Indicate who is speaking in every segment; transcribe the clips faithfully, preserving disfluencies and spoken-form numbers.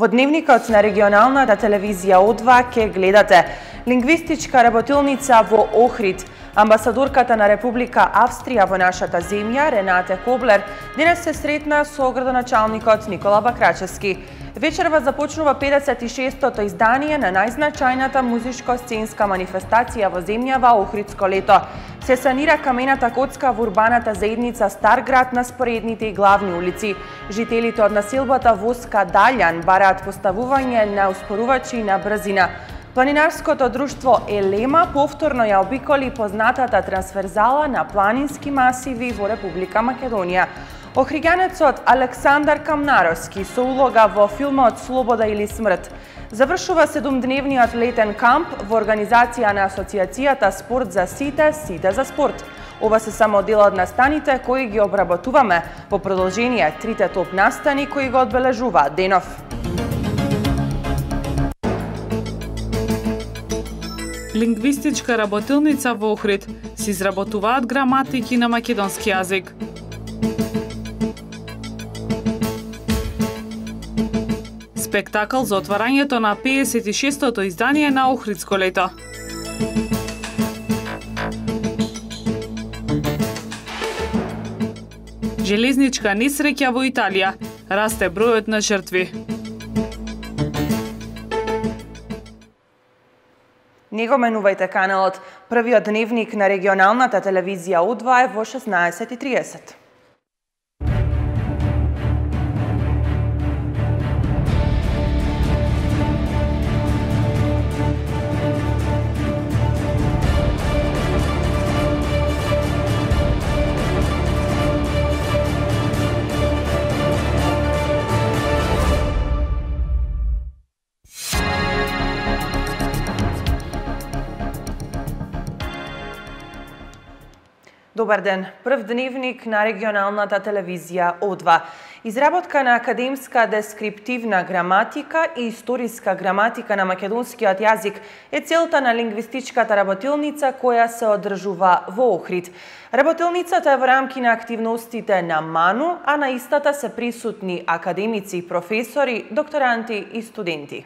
Speaker 1: Во дневникот на регионалната телевизија О два ке гледате лингвистичка работилница во Охрид. Амбасадорката на Република Австрија во нашата земја, Ренате Коблер, денес се сретна со градоначалникот Никола Бакрачевски. Вечерва започнува педесет и шестото издание на најзначајната музичко-сценска манифестација во земјава Охридско лето. Се санира камената коцка во урбаната заедница Стар град на споредните и главни улици. Жителите од населбата Воска Далјан бараат поставување на успорувачи на брзина. Планинарското друштво Елема повторно ја обиколи познатата трансферзала на планински масиви во Република Македонија. Охриѓанецот Александар Камнаровски со улога во филмот Слобода или смрт завршува седумдневниот летен камп во организација на Асоциацијата Спорт за сите, сите за спорт. Ова се само дел од настаните кои ги обработуваме во продолжение трите топ настани кои го одбележуваат денов.
Speaker 2: Лингвистичка работилница во Охрид се изработуваат граматики на македонски јазик. Спектакл за отварањето на педесет и шестото издание на Охридско лето. Железничка несреќа во Италија. Расте бројот на жртви.
Speaker 1: Не го менувајте каналот. Првиот дневник на регионалната телевизија О два е во шеснаесет и триесет. Добар ден. Прв дневник на регионалната телевизија О два. Изработка на академска дескриптивна граматика и историска граматика на македонскиот јазик е целта на лингвистичката работилница која се одржува во Охрид. Работилницата е во рамки на активностите на МАНУ, а на истата се присутни академици, професори, докторанти и студенти.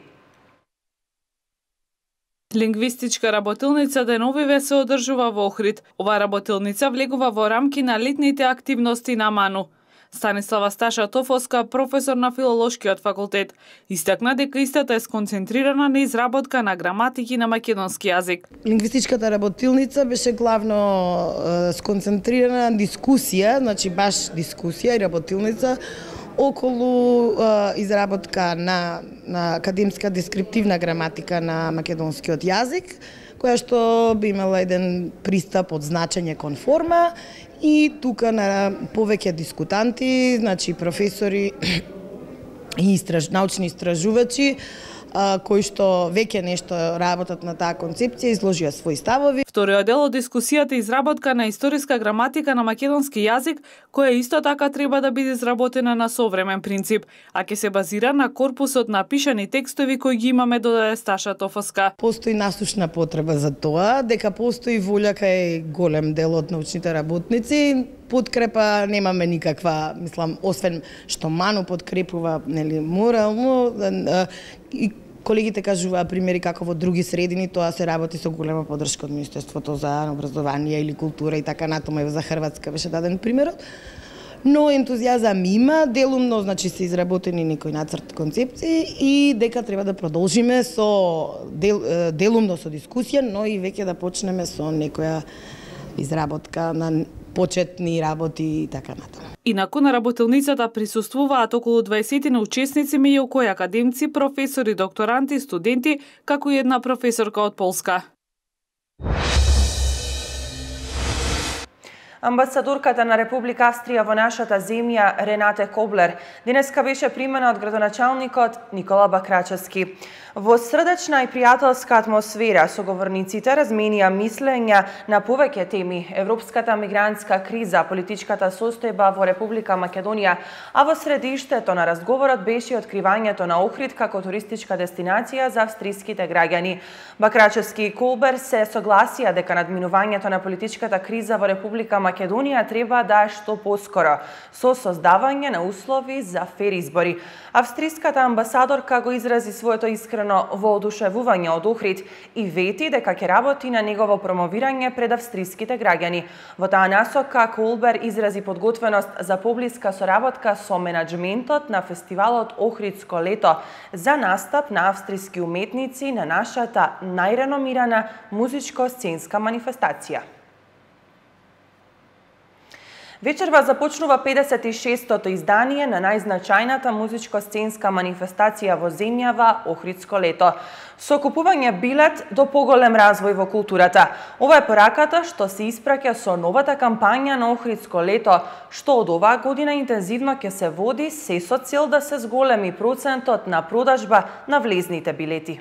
Speaker 2: Лингвистичка работилница деновиве се одржува во Охрид. Ова работилница влегува во рамки на летните активности на МАНУ. Станислава Сташа Тофоска, професор на филолошкиот факултет, истакна дека истата е сконцентрирана на изработка на граматики на македонски јазик.
Speaker 3: Лингвистичката работилница беше главно е, сконцентрирана на дискусија, значи баш дискусија и работилница околу е, изработка на, на академска дескриптивна граматика на македонскиот јазик, која што би имала еден пристап од значење кон форма и тука на повеќе дискутанти, значи професори и истраж, научни истражувачи, кои што веќе нешто работат на таа концепција, изложија своји ставови.
Speaker 2: Вториот дел од дискусијата е изработка на историска граматика на македонски јазик, која исто така треба да биде изработена на современ принцип, а ќе се базира на корпусот на пишани текстови кои ги имаме, додаде Сташа Тофоска.
Speaker 3: Постои насушна потреба за тоа, дека постои волја кај голем дел од научните работници. Подкрепа немаме никаква, мислам, освен што МАНУ подкрепува, нели, морално, и колегите кажуваа примери како во други средини тоа се работи со голема поддршка од Министерството за образование или култура и така натаму, и за Хрватска беше даден примерот. Но ентузијазам има, делумно, значи се изработени некои нацрт концепции и дека треба да продолжиме со дел, делумно со дискусија, но и веќе да почнеме со некоја изработка на почетни работи и така натаму.
Speaker 2: Инаку на работилницата присуствуваат околу дваесет учесници, меѓу кои академци, професори, докторанти, студенти, како и една професорка од Полска.
Speaker 1: Амбасадорката на Република Австрија во нашата земја, Ренате Коблер, денеска беше примена од градоначалникот Никола Бакрачевски. Во срдечна и пријателска атмосфера соговорниците разменија мислења на повеќе теми: европската мигрантска криза, политичката состојба во Република Македонија, а во средиштето на разговорот беше откривањето на Охрид како туристичка дестинација за австриските граѓани. Бакрачевски и Колбер се согласија дека надминувањето на политичката криза во Република Македонија Македонија треба да е што поскоро, со создавање на услови за фер избори. Австриската амбасадорка го изрази своето искрено воодушевување од Охрид и вети дека ќе работи на негово промовирање пред австриските граѓани. Во таа насока Колбер изрази подготвеност за поблиска соработка со менаџментот на фестивалот Охридско лето за настап на австриски уметници на нашата најреномирана музичко-сценска манифестација. Вечерва започнува педесет и шестото издание на најзначајната музичко-сценска манифестација во земјава Охридско лето. Со купување билет до поголем развој во културата. Ова е пораката што се испраќа со новата кампања на Охридско лето, што од оваа година интензивно ќе се води се со цел да се зголеми процентот на продажба на влезните билети.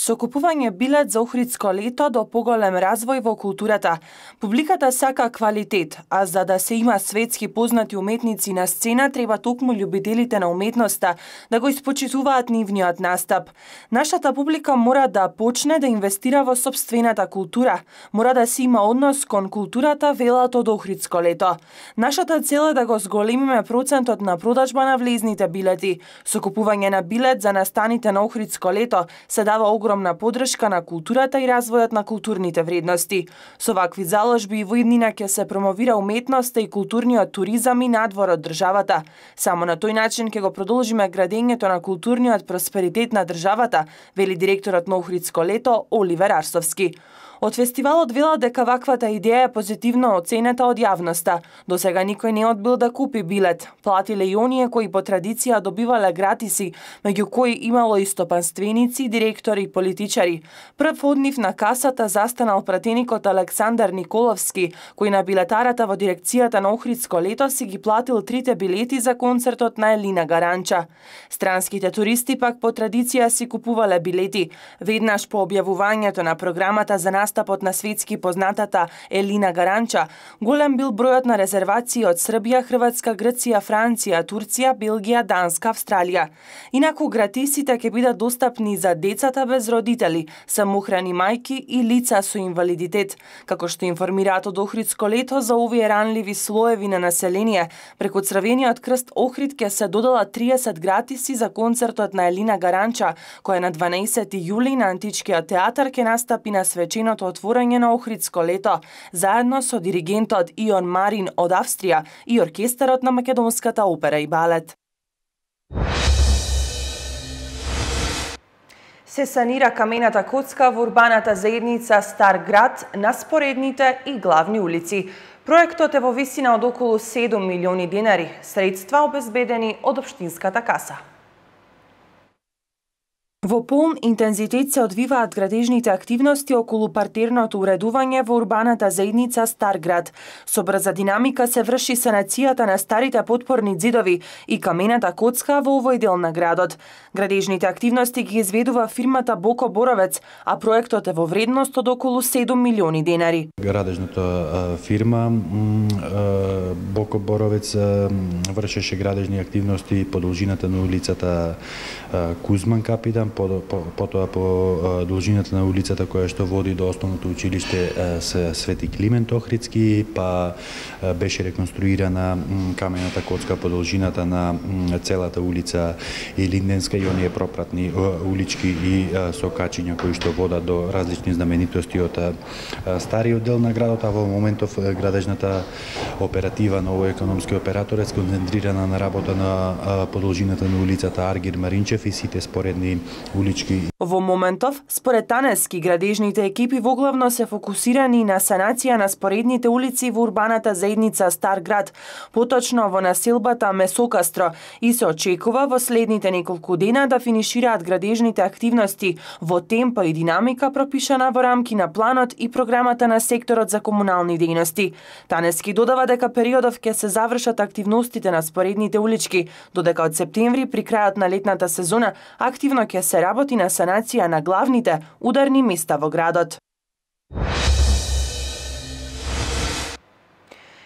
Speaker 1: Со купување билет за Охридско лето до поголем развој во културата, публиката сака квалитет, а за да се има светски познати уметници на сцена, треба токму љубителите на уметноста да го испочитуваат нивниот настап. Нашата публика мора да почне да инвестира во сопствената култура, мора да се има однос кон културата велат од Охридско лето. Нашата цел е да го зголемиме процентот на продажба на влезните билети. Со купување на билет за настаните на Охридско лето се дава огромна подршка на културата и развојот на културните вредности. Со вакви заложби и во иднина ќе се промовира уметноста и културниот туризам и надвор од државата. Само на тој начин ќе го продолжиме градењето на културниот просперитет на државата, вели директорот на Охридско лето Оливер Арсовски. Од фестивалот велат дека ваквата идеја е позитивно оценета од јавноста. До сега никој не одбил да купи билет. Платиле и оние кои по традиција добивале гратиси, меѓу кои имало и стопанственици, директори и политичари. Прв од нив на касата застанал пратеникот Александар Николовски, кој на билетарата во дирекцијата на Охридско лето си ги платил трите билети за концертот на Елина Гаранча. Странските туристи пак по традиција си купувале билети. Веднаш по објавувањето на програмата за настапот на светски познатата Елина Гаранча, голем бил бројот на резервации од Србија, Хрватска, Грција, Франција, Турција, Белгија, Данска, Австралија. Инаку гратисите ќе бидат достапни за децата без родители, самохрани мајки и лица со инвалидитет. Како што информираат од Охридско лето, за овие ранливи слоеви на население, преку Црвениот крст Охрид ќе се додала триесет гратиси за концертот на Елина Гаранча, која на дванаесети јули на Античкиот театар ќе настапи на свеченото отворање на Охридско лето, заедно со диригентот Ион Марин од Австрија и оркестарот на Македонската опера и балет. Се санира камената коцка во урбаната заедница Стар град на споредните и главни улици. Проектот е во висина од околу седум милиони денари, средства обезбедени од општинската каса. Во полн интензитет се одвиваат градежните активности околу партерното уредување во урбаната заедница Стар град. Со брза динамика се врши санацијата на старите потпорни ѕидови и камената коцка во овој дел на градот. Градежните активности ги изведува фирмата Боко Боровец, а проектот е во вредност од околу седум милиони денари.
Speaker 4: Градежната фирма Боко Боровец вршеше градежни активности по должината на улицата Кузман Капидан, потоа по должината на улицата која што води до основното училиште Свети Климент Охридски, па беше реконструирана камената коцка по должината на целата улица Илинденска и оние пропратни улички и сокачиња кои што водат до различни знаменитости од стариот дел на градот, а во моментов градежната оператива на овој економски оператор е сконцентрирана на работа на по должината на улицата Аргир Маринчев и сите споредни улички.
Speaker 1: Во моментов, според Танески, градежните екипи воглавно се фокусирани на санација на споредните улици во урбаната заедница Стар град, поточно во населбата Месокастро, и се очекува во следните неколку дена да финишираат градежните активности во темпо и динамика пропишана во рамки на планот и програмата на секторот за комунални дејности. Танески додава дека периодов ќе се завршат активностите на споредните улички, додека од септември при крајот на летната сезона активно ќе се работи на санација на главните ударни места во градот.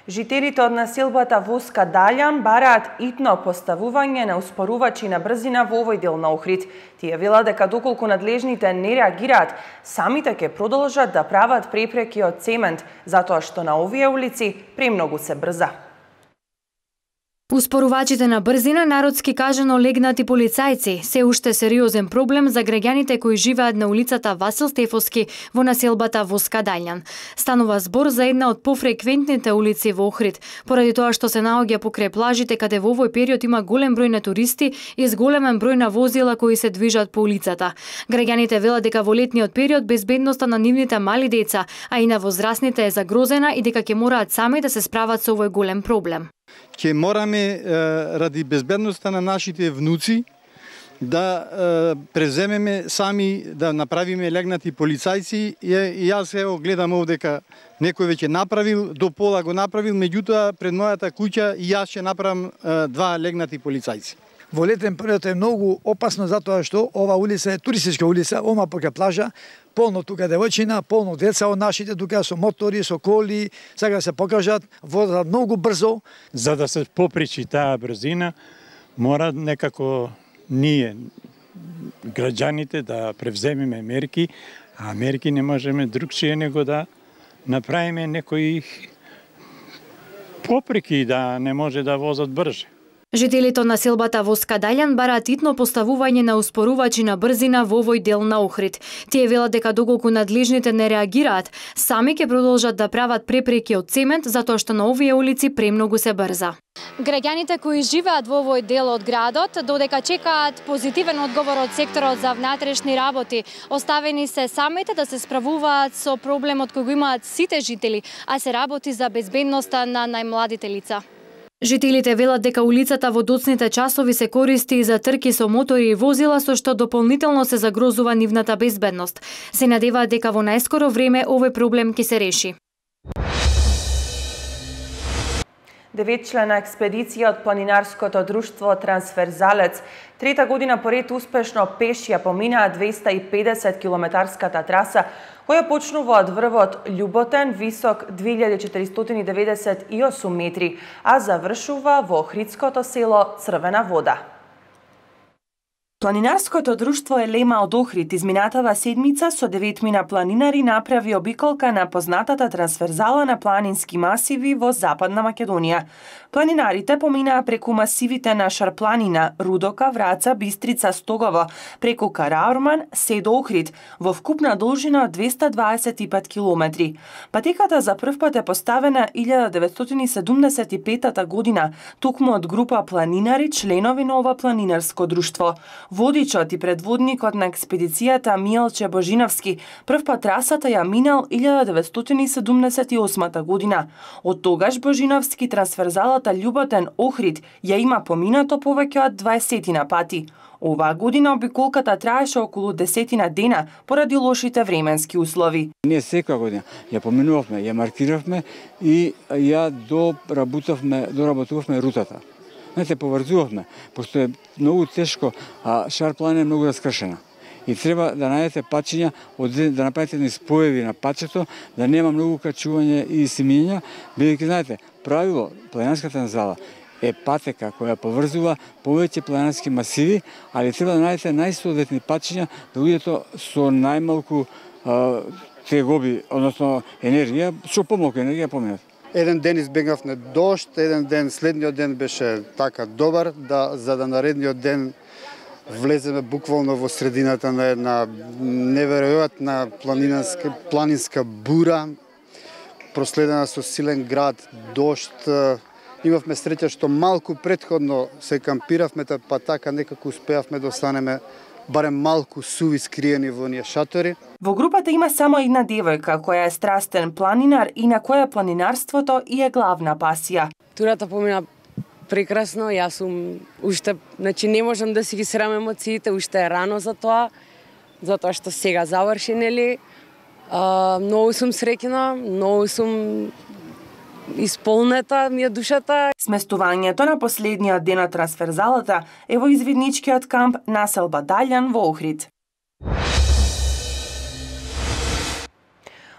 Speaker 1: Жителите од населбата Воска Далјан бараат итно поставување на успорувачи на брзина во овој дел на Охрид. Тие велат дека доколку надлежните не реагираат, самите ќе продолжат да прават препреки од цемент, затоа што на овие улици премногу се брза.
Speaker 5: Успорувачите на брзина, народски кажано легнати полицајци, се уште сериозен проблем за граѓаните кои живеат на улицата Васил Стефовски во населбата Воска Далјан. Станува збор за една од пофреквентните улици во Охрид, поради тоа што се наоѓа покрај плажите каде во овој период има голем број на туристи и зголемен број на возила кои се движат по улицата. Граѓаните велат дека во летниот период безбедноста на нивните мали деца, а и на возрастните е загрозена и дека ќе мораат сами да се справат со овој голем проблем.
Speaker 6: Ќе мораме е, ради безбедноста на нашите внуци да е, преземеме сами да направиме легнати полицајци и, и јас ево гледам овдека некој веќе направил, до пола го направил, меѓутоа пред мојата куќа и јас ќе направам е, два легнати полицајци.
Speaker 7: Во летен период е многу опасно затоа што ова улица е туристичка улица, ома покрај плажа, полно тука девојчина, полно деца од нашите тука со мотори, со коли, сега се покажат, возат многу брзо.
Speaker 8: За да се попречи таа брзина, мора некако ние, граѓаните, да превземеме мерки, а мерки не можеме другчие него да направиме некои попреки да не може да возат брже.
Speaker 5: Жителите од населбата Воска Далјан бараат итно поставување на успорувачи на брзина во овој дел на Охрид. Тие велат дека доколку надлежните не реагираат, сами ќе продолжат да прават препреки од цемент затоа што на овие улици премногу се брза. Граѓаните кои живеат во овој дел од градот, додека чекаат позитивен одговор од секторот за внатрешни работи, оставени се самите да се справуваат со проблемот кој го имаат сите жители, а се работи за безбедноста на најмладите лица. Жителите велат дека улицата во доцните часови се користи за трки со мотори и возила, со што дополнително се загрозува нивната безбедност. Се надеваат дека во најскоро време овој проблем ќе се реши.
Speaker 1: Деветчлена експедиција од планинарското друштво Трансферзалец трета година поред успешно пеш ја поминаа двеста и педесет километарската траса, која почнува од врвот Љуботен, висок две илјади четиристотини и деветдесет и осум метри, а завршува во охридското село Црвена вода. Планинарското друштво Елема од Охрид изминатава седмица со деветмина планинари направи обиколка на познатата трансферзала на планински масиви во Западна Македонија. Планинарите поминаа преку масивите на Шарпланина, Рудока, Враца, Бистрица, Стогово, преку Караорман, се до Охрид, во вкупна должина од двеста дваесет и пет километри. Патеката за прв пат е поставена илјада деветстотини и седумдесет и петата година, токму од група планинари, членови на ова планинарско друштво. Водичот и предводникот на експедицијата Милче Божиновски прв пат трасата ја минал илјада деветстотини и седумдесет и осмата година. Од тогаш Божиновски трансферзалата Љуботен Охрид ја има поминато повеќе од дваесетина пати. Оваа година обиколката траеше околу десетина дена поради лошите временски услови.
Speaker 9: Ние секоја година ја поминувавме, ја маркиравме и ја доработувавме, доработувавме рутата. Не се поврзувавме, пошто е многу тешко, а Шарпланина е многу раскршена. И треба да најдете пачиња, да направите едни споеви на пачето, да нема многу качување и симиња, бидејќи знаете, правило планинарската зала е патека која поврзува повеќе планинарски масиви, али треба да најдете најсоодветни пачиња да бидете со најмалку а, тегоби, односно енергија, со помалку енергија поминат.
Speaker 10: Еден ден избегнавме дожд, еден ден следниот ден беше така добар, да, за да наредниот ден влеземе буквално во средината на една неверојатна планинска, планинска бура, проследена со силен град, дожд. Имавме среќа што малку претходно се кампиравме, па така некако успеавме да останеме барем малку суви скриени во оние шатори.
Speaker 1: Во групата има само една девојка која е страстен планинар и на која планинарството и е главна пасија.
Speaker 11: Турата помина прекрасно, јас сум уште, значи не можам да си ги срам емоциите, уште е рано за тоа, затоа што сега заврши, нели. А, многу сум среќна, многу сум исполнета ми е душата.
Speaker 1: Сместувањето на последниот ден од трансферзалата е во извидничкиот камп населба Далјан во Охрид.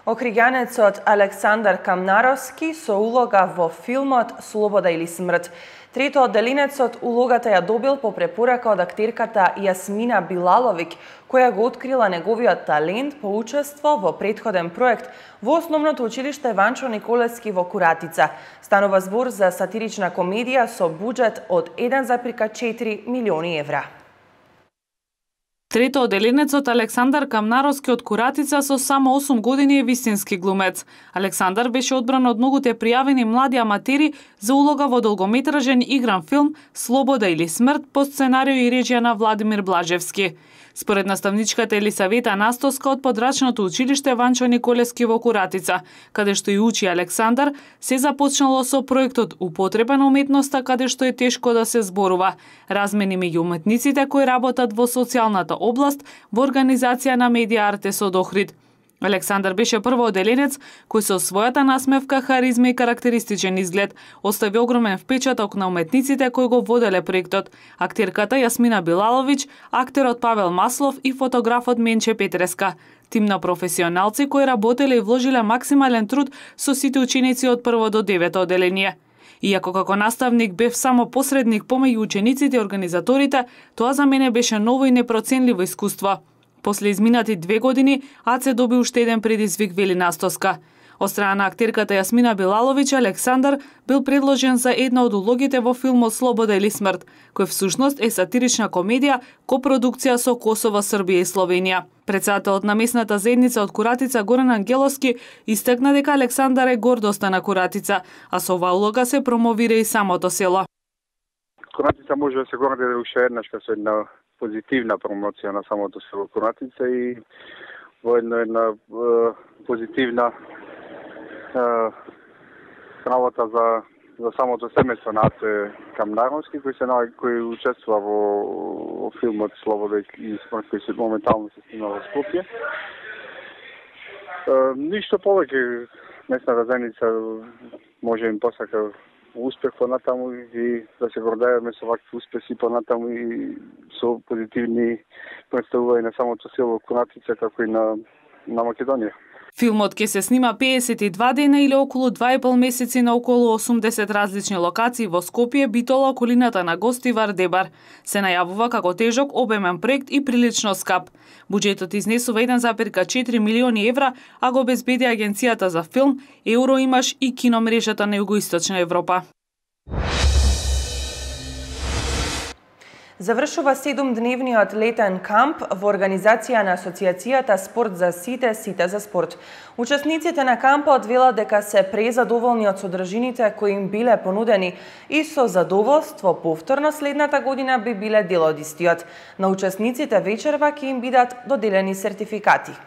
Speaker 1: Охриѓанецот Александар Камнаровски со улога во филмот Слобода или смрт. Трето одделенецот улогата ја добил по препорака од актерката Јасмина Билаловиќ, која го открила неговиот талент по учество во претходен проект во Основното училиште Ванчо Николевски во Куратица. Станува збор за сатирична комедија со буџет од еден зарез четири милиони евра.
Speaker 2: Трето одделенецот Александар Камнаровски од Куратица со само осум години е вистински глумец. Александар беше одбран од многуте пријавени млади аматери за улога во долгометражен игран филм Слобода или смрт по сценарио и режија на Владимир Блажевски. Според наставничката Елисавета Настоска од подрачното училиште Ванчо Николевски во Куратица, каде што и учи Александар, се започнало со проектот Употреба на уметноста, каде што е тешко да се зборува, размени меѓу уметниците кои работат во социјалната област во организација на Медија Артес од Охрид. Александар беше прво одделенец кој со својата насмевка, харизма и карактеристичен изглед остави огромен впечаток на уметниците кои го воделе проектот, актерката Јасмина Билаловиќ, актерот Павел Маслов и фотографот Менче Петреска. Тим на професионалци кои работеле и вложиле максимален труд со сите ученици од прво до девето одделение. Иако како наставник бев само посредник помеѓу учениците и организаторите, тоа за мене беше ново и непроценливо искуство. После изминати две години, АЦ доби уште еден предизвик, вели Настоска. Од страна на актерката Јасмина Билаловиќ, Александар бил предложен за една од улогите во филмот Слобода или смрт, кој всушност е сатирична комедија, копродукција со Косово, Србија и Словенија. Председателот на местната заедница од Куратица Горан Ангеловски истакна дека Александар е гордоста на Куратица, а со оваа улога се промовира и самото село.
Speaker 12: Куратица може да се горди уште еднаш со една позитивна промоција на самото село Куратица и во една, една е, позитивна е, работа за за самото семејство на Аце Камнаровски кој се кој учествува во, во филмот Слобода и смрт кој се моментално се снима во Скопје. Е, ништо повеќе, местната заедница може им посака успех понатаму и да се гордееме со вакви успеси понатаму и со позитивни представувања на самото село Куратица како и на на Македонија.
Speaker 2: Филмот ќе се снима педесет и два дена или околу два и пол месеци на околу осумдесет различни локации во Скопје, Битола, околината на Гостивар, Дебар. Се најавува како тежок, обемен проект и прилично скап. Буџетот изнесува еден зарез четири милиони евра, а го обезбеди Агенцијата за филм, Евроимаш и киномрежата на Југоисточна Европа.
Speaker 1: Завршува седумдневниот летен камп во организација на Асоциацијата Спорт за сите, сите за спорт. Учесниците на кампот велат дека се презадоволни од содржините кои им биле понудени и со задоволство повторно следната година би биле дел од истиот. На учесниците вечерва ќе им бидат доделени сертификати.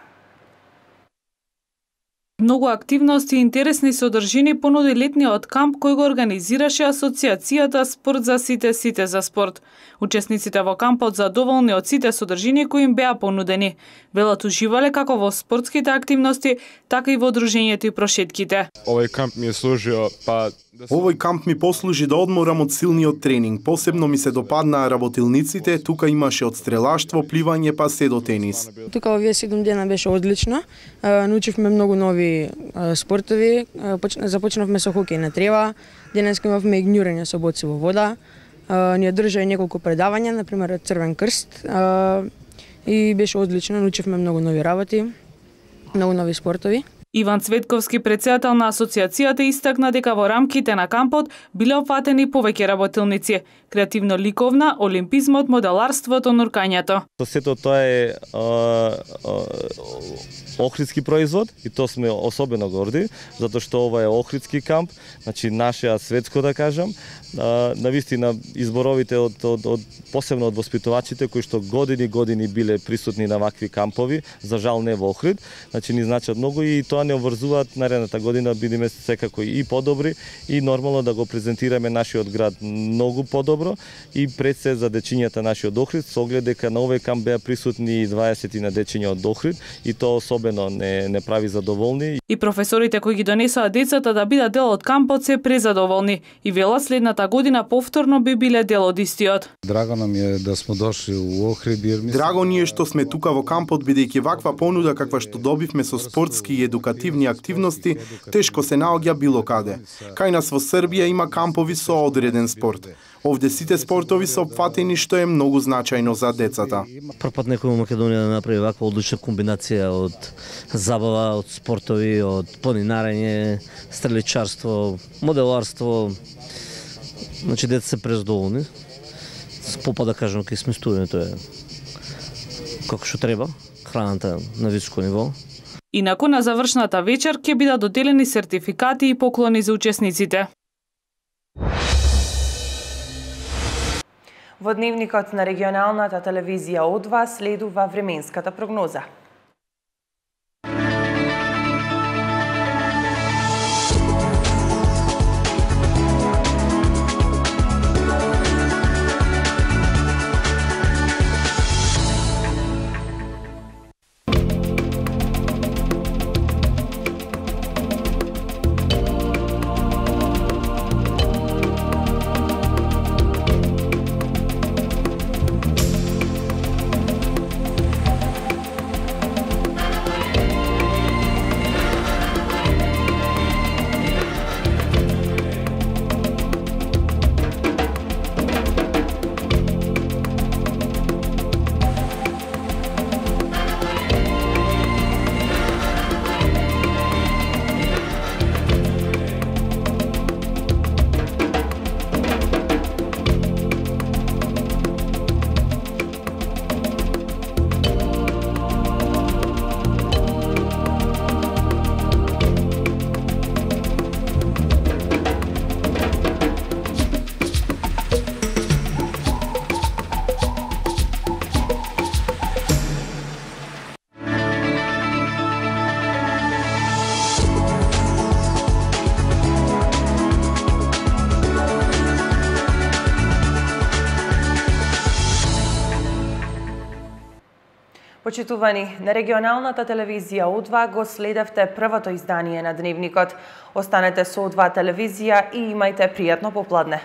Speaker 2: Многу активности и интересни содржини понуди летниот камп кој го организираше Асоциацијата Спорт за сите, сите за спорт. Учесниците во кампот задоволни од сите содржини кои им беа понудени. Велат уживале како во спортските активности, така и во дружењето и прошетките.
Speaker 13: Овој камп ми е служио, па
Speaker 14: Овој камп ми послужи да одморам од силниот тренинг. Посебно ми се допаднаа работилниците, тука имаше од стрелаштво, пливање па се до тенис.
Speaker 15: Тука овие седум дена беше одлично. Научивме многу нови спортови. Започнавме со хокеј на трева. Денеска имавме и гњурење со боци во вода. Ние држа и неколку предавања, например Црвен крст. И беше одлично, научивме многу нови работи, многу нови спортови.
Speaker 2: Иван Цветковски, председател на асоциацијата, истакна дека во рамките на кампот биле опфатени повеќе работилници: креативно-ликовна, олимпизмот, моделарството, нуркањето.
Speaker 16: Сето тоа е а, а, охридски производ и тоа сме особено горди, затоа што ова е охридски камп, значи нашиот светско да кажам. А, навистина изборовите од, од, од посебно од воспитувачите кои што години години биле присутни на вакви кампови, за жал не во Охрид, значи ни значат многу и тоа не обврзуваат наредната година бидеме секако и подобри и нормално да го презентираме нашиот град многу подобро и пред се за дечињата нашиот Охрид, со оглед дека на овој камп беа присутни дваесет на дечиња од Охрид и тоа особено не не прави задоволни.
Speaker 2: И професорите кои ги донесоа децата да бидат дел од кампот се презадоволни и велат следната година повторно би биле дел од истиот.
Speaker 17: Драго нам е да сме дошли у Охрид.
Speaker 14: Драго ни е што сме тука во кампот, бидејќи ваква понуда каква што добивме со спортски и едукативни едукативни активности тешко се наоѓа било каде. Кај нас во Србија има кампови со одреден спорт. Овде сите спортови се опфатени, што е многу значајно за децата.
Speaker 18: Прв пат некој во Македонија да направи ваква одлична комбинација од забава, од спортови, од планинарење, стреличарство, моделарство. Значи деца се презадоволни. Попа да кажам кај сместувањето е како што треба, храната на високо ниво.
Speaker 2: Инаку на завршната вечер ќе бидат доделени сертификати и поклони за учесниците.
Speaker 1: Во дневникот на регионалната телевизија О два следува временската прогноза. Почитувани, на регионалната телевизија О два го следевте првото издание на Дневникот. Останете со О два телевизија и имајте пријатно попладне.